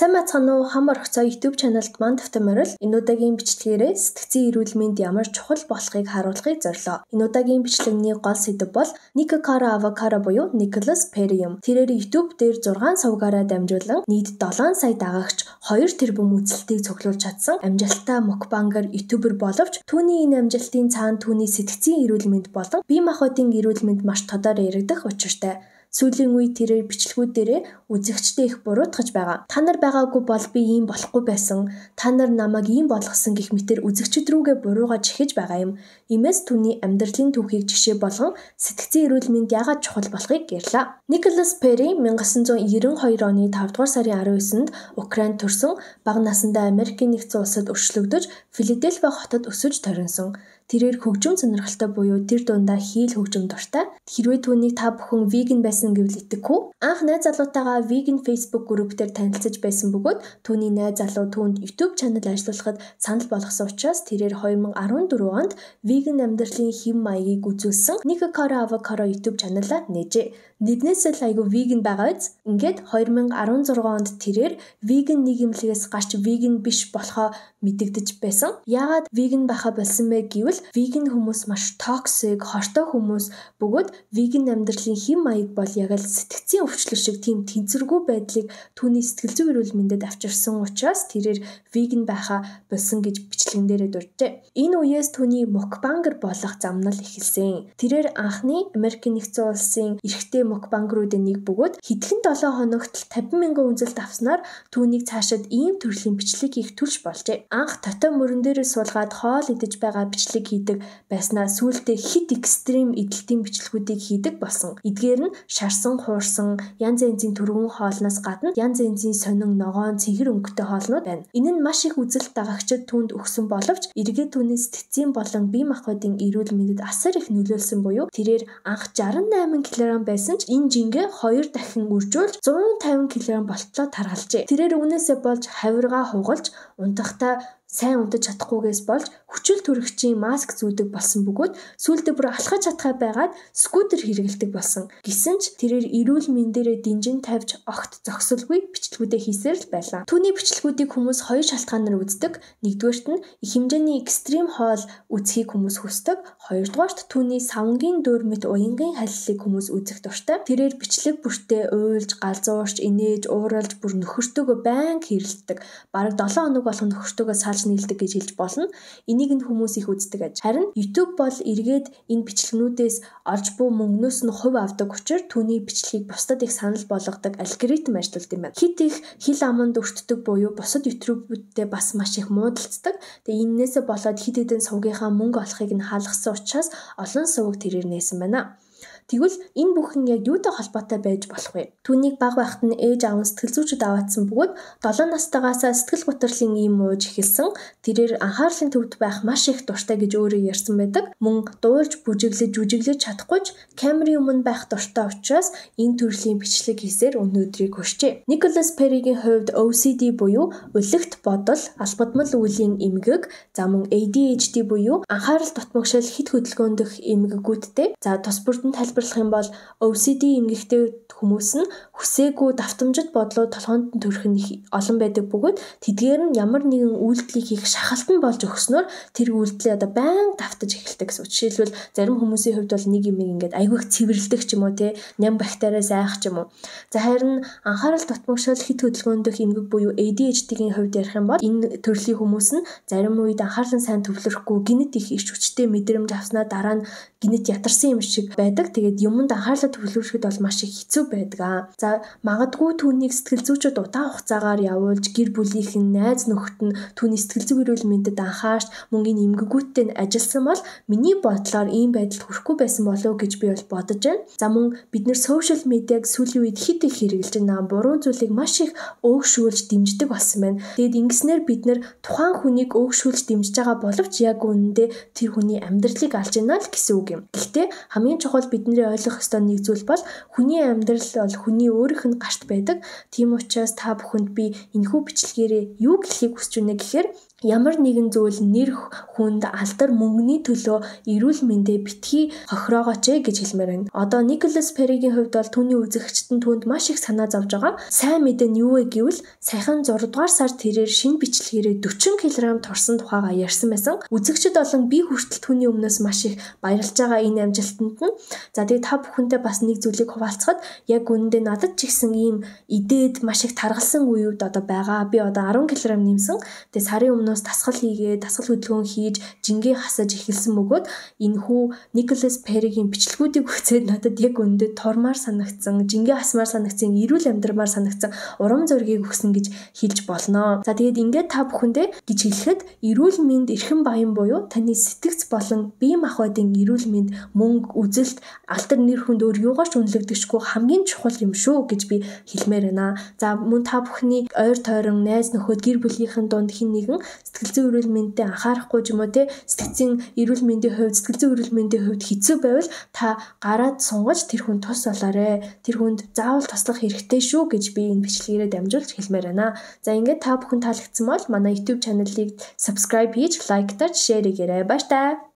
Сайн бацхан уу хам орхицоо YouTube channel-д маань тавтамарал энэ удаагийн бичлэгээрээ сэтгцийн эрүүл мэнд ямар чухал болохыг харуулахыг зорилоо. Энэ удаагийн бичлэгний гол сэдэв бол Nico Cara Avocaro буюу Nicholas Perry юм. Тэрээр YouTube дээр 6 сувгаараа дамжуулан нийт 7 сая дагагч 2 тэрбум үзэлтийг цуглуулж чадсан амжилттай мукбангер YouTuber боловч түүний энэ амжилтын цаана түүний сэтгцийн эрүүл мэнд болон бие махбодын эрүүл мэнд маш тодор яригдах учиртай. Сүүлийн үед тэрээр бичлэгүүдээрээ үзэгчдээ их буруутгаж байгаа. Та нар байгаагүй бол би ийм болохгүй байсан. Та нар намайг ийм болгосон гэх мэтэр үзэгчд рүүгээ буруугаж ихэж байгаа юм. Иймээс түүний амьдралын түүхийг жишээ болгон сэтгцийн эрүүл мэнд яагаад чухал болохыг ярьлаа. Nicholas Perry 1992 оны 5 дугаар сарын 19-нд Украинд төрсөн бага насндаа Америкийн нэгдсэн улсад өршлөгдөж Филадельфи хотод өсөж төрөнсөн. Тэрээр хөгжим сонирхолтой буюу тэр дундаа хийл хөгжим дуртай. Хэрвээ түүнийг та бүхэн веган байсан гэвэл итгэхгүй. Анх найз залуутайгаа веган Facebook групп дээр танилцаж байсан бөгөөд түүний найз залуу түүнд YouTube channel ажиллуулахад санал болгосон учраас тэрээр 2014 онд веган амьдралын хэм маягийг үзүүлсэн Nico Cara Avocaro YouTube channel-а нээжээ. Нэгнээс л айгүй веган байгаа биз. Ингээд 2016 онд тэрээр веган нийгэмлэгээс гарч веган биш болохоо мэдэгдэж байсан. Яагаад веган байха болсон бэ гэвэл веган хүмүүс маш токсик, хортой хүмүүс бөгөөд веган амьдралын хэм маяг бол яг л сэтгцийн өвчлөл шиг тийм тэнцвэргүй байдлыг түүний сэтгэл зүйн эрүүл мэндэд авчирсан учраас тэрээр веган байха болсон гэж бичлэгэн дээрээ дурджээ. Энэ үеэс түүний мукбангер болох замнал эхэлсэн. Тэрээр анхны Америкийн нэгдсэн улсын эрэгтэй мукбангеруудын нэг бөгөөд хэдхэн 7 хоногт 50 мянган үзэлт авснаар түүнийг цаашид ийм төрлийн бичлэг хийх төлж болжээ. Анх тотой мөрөн дээрээ суулгаад хоол идэж байгаа бичлэг хийдэг байснаа сүүлдээ хит экстрим эдэлтийн бичлэгүүдийг хийдэг болсон. Эдгээр нь шарсан, хуурсан, янз янзын төргөн хоолноос гадна янз янзын сонин, ногоон, цэнхэр өнгөтэй хоолнууд байна. Энэ нь маш их үзэлт дагагчид түүнд өгсөн боловч эргээд түүний сэтгцийн болон бие махбодын эрүүл мэндэд асар их нөлөөлсөн буюу тэрээр анх 68 кг байсан ч энэ жингээ 2 дахин үржүүлж 150 кг болтлоо таргалжээ. Тэрээр үүнээсээ болж хавиргаа хугалж унтахтаа сайн унтаж чадахгүйгээс болж хүчил төрөгчийн маск зүүдэг болсон бөгөөд сүүлдээ бүр алхаж чадхаа байгаад скутер хэрэглэдэг болсон. Гэсэн ч тэрээр эрүүл мэндээрээ дэнжин тавьж огт зогсолгүй бичлэгүүдээ хийсээр л байлаа. Түүний бичлэгүүдийг хүмүүс хоёр шалтгаанаар үздэг. Нэгдүгээрт нь их хэмжээний экстрим хоол үзхийг хүмүүс хүсдэг. Хоёрдугаарт түүний савнгийн дөөр мэт уянгийн халилыг хүмүүс үзэх дуртай. Тэрээр бичлэг бүртээ уйлж, галзуурч, инээж, ууралж бүр нөхөртөөгөө байнга хэрэлддэг. Бараг 7 хоног болгон нөхөртөөгөө салж нийлдэг гэж хэлж болно. Энийг нь хүмүүс их үздэг аж. Харин YouTube бол эргээд энэ бичлэгнүүдээс олж буй мөнгнөөс нь хувь авдаг учраас түүний бичлэгийг бусдад их санал болгодог алгоритм ажилладаг юм байна. Хит их хил аманд өртдөг буюу бусад YouTube-үүдтэй бас маш их муудалцдаг. Тэгээ энээсээ болоод хит хитэн сувгийнхаа мөнгө олохыг нь хаалгасан учраас олон сувг тэрээр нээсэн байна. Тэгвэл энэ бүхэн яг юутай холбоотой байж болох вэ? Түүнийг баг байхад нь ээж аав сэтгэл зүйчд аваадсан бөгөөд 7 настайгаас сэтгэл готрлын ийм ууж эхэлсэн. Тэрээр анхаарлын төвд байх маш их дуртай гэж өөрөө ярьсан байдаг. Мөн дуулж, бүжиглэж чадахгүй ч камерын өмнө байх дуртай учраас энэ төрлийн бичлэг хийсээр өнөөдрийг хүрчээ. Nicholas Perry-гийн хувьд OCD буюу өлегт бодол, албадмал үеийн эмгэг, за мөн ADHD буюу анхаарал дутмагшил хит хөдөлгөөндөх эмгэгүүдтэй. За тус бүрдэн тайлбарлах юм бол OCD эмгэгтэй хүмүүс нь хүсээгүй давтамжит бодлоо толгоонд төрөх нь их олон байдаг бөгөөд тэдгээр нь ямар нэгэн үйлдэлийг хийх шахалтан болж өгснөөр тэр үйлдэлээ одоо байнга давтаж эхэлдэг гэсэн. Жишээлбэл зарим хүмүүсийн хувьд бол нэг юм ингээд айгүй их цэвэрлдэг ч юм уу те ням бактериас айх ч юм уу. За харин анхаарал дутмагшил хит хөдөлгөөндөх эмгэг буюу ADHD-гийн хувьд ярих юм бол энэ төрлийн хүмүүс нь зарим үед анхаарлан сайн төвлөрөхгүй гинэт их ич хүчтэй мэдрэмж авснаа дараа нь гинэт ятарсан юм шиг байдаг. Тэгээд юмд анхаарлаа төвлөрөхөд бол маш их хэцүү байдаг. За магадгүй түүнийг сэтгэл зүйчид удаан хугацаагаар явуулж гэр бүлийнхэн найз нөхөд нь түүний сэтгэл зүйн эрүүл мэндэд анхаарч мөнгөний эмгэгүүдтэй нь ажилласан бол миний бодлоор ийм байдалд хүрэхгүй байсан болов гэж би бол бодож байна. За мөн бид нэр сошиал медиаг сүүлийн үед хит их хэрэглэж байна. Буруу зүйлийг маш их өөгшүүлж дэмждэг болсон байна. Тэгээд ингэснээр бид нэр тухайн хүнийг өөгшүүлж дэмжиж байгаа боловч яг үнэндээ тэр хүний амьдралыг алж байна л гэсэн үг юм. Гэхдээ хамгийн чухал бидний ойлгох ёстой нэг зүйл бол хүний амьдрал бол хүний өөрийнх нь гарт байдаг. Тийм учраас та бүхэнд би энэхүү бичлэгээрээ юу гэлхийг хүсэж байна гэхээр ямар нэгэн зүйл нэр хүнд алдар мөнгөний төлөө эрүүл мэндэ битгий хохироогооч гэж хэлмээр байна. Одоо Николас Перригийн хувьд бол түүний үзэгчид нь түүнд маш их санаа зовж байгаа. Сайн мэдээ нь юу вэ гэвэл саяхан 6 дугаар сард тэрээр шинэ бичлэгээрээ 40 кг торсон тухайга ярьсан байсан. Үзэгчид болон би хүртэл түүний өмнөөс маш их баярлж байгаа энэ амжилтанд нь. За тэгээ та бүхэнтэй бас нэг зүйлийг хуваалцахад яг үнэндээ надад ч ихсэн ийм идээд маш их таргалсан үеуд одоо байгаа. Би одоо 10 кг нэмсэн. Тэгээ сарын өмнөөс дасгал хийгээд дасгал хөдөлгөөн хийж жингээ хасаж эхэлсэн бөгөөд энэ хүү Николас Перригийн бичлэгүүдийг үзээд надад яг үнэндээ тормаар санагдсан, жингээ хасмаар санагдсан, эрүүл амьдрамаар санагдсан урам зоригийг өгсөн гэж хэлж болно. За тэгээд ингээд та бүхэндээ гэж хэлэхэд эрүүл мэнд эрхэм баян буюу таны сэтгц болон бие махбодын эрүүл мэнд мөнгө, үзэлт, алдар нэр хүнд өөр юугаарч үнэлэгдэхгүй хамгийн чухал юм шүү гэж би хэлмээр байна. За мөн та бүхний ойр тойрон, найз нөхөд, гэр бүлийнхэн дунд хэн нэгэн сэтгэл зүйн эрүүл мэндэд анхаарахгүй ч юм уу те сэтгцийн эрүүл мэндийн хувьд сэтгэл зүйн эрүүл мэндийн хувьд хэцүү байвал та гараад сунгаж тэр хүнд тус болоорой. Тэр хүнд заавал туслах хэрэгтэй шүү гэж би энэ бичлэгээрээ дамжуулж хэлмээр байна. За ингээд та бүхэн таалагдсан бол манай YouTube чаналыг subscribe хийж, лайктарч, share хийгээрэй. Баяр таа.